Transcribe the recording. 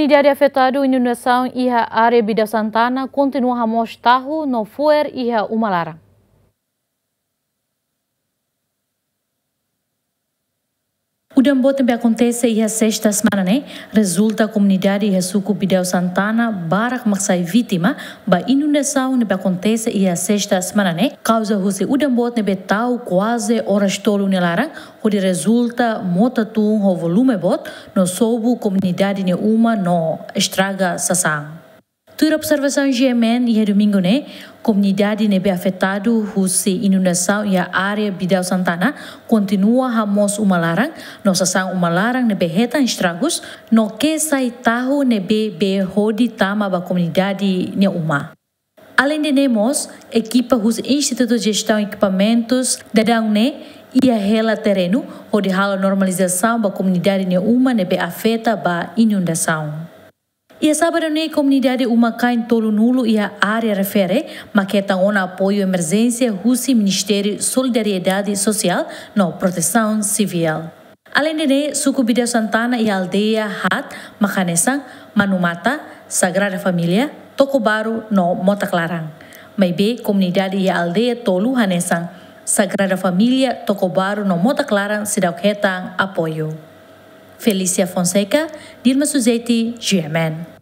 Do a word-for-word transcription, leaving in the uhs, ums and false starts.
Komunidade afetadu inundasaun iha área Bidau Santana kontinua hamoos tahu no fo'er iha uma laran. Udan boot ne'ebé akontese iha sesta semana ne'e rezulta komunidade iha suku Bidau Santana barak mak sai vítima ba inundasaun ne'ebé akontese iha sesta semana ne'e, kauza husi udan boot ne'ebé tau kuaze oras tolu nia laran, hodi rezulta mota tun ho volume boot no sobu komunidade nia uma no estraga sasán. Tuir observasaun G M N iha domingu ne'e, komunidade ne'ebé afetadu husi inundasaun iha área Bidau Santana kontinua hamoos uma laran no sasán uma laran ne'ebé hetan estragus no ke sai tahu ne'ebé bee hodi tama ba komunidade nia uma. Aleinde ne'e mós, ekipa husi Institutu Jestaun Ekipamentus daudaun ne'e iha hela terrenu hodi halo normalizasaun ba komunidade nia uma ne'ebé afeta ba inundasaun. Iha sábadu ne'e komunidade uma-kain tolunulu iha área refere mak hetan ona apoiu emerjénsia husi Ministériu Solidariedade Sosiál no Protesaun Sivíl. Aleinde ne'e, suku Bidau Santana iha aldeia haat mak hanesan Manumata, Sagrada Família, Tokobaru no Motak Laran. Maibé komunidade iha aldeia tolu hanesan Sagrada Família, Tokobaru no Motak Laran seidauk hetan apoiu. Felícia Fonseca, Dilma Suzeti, G M N.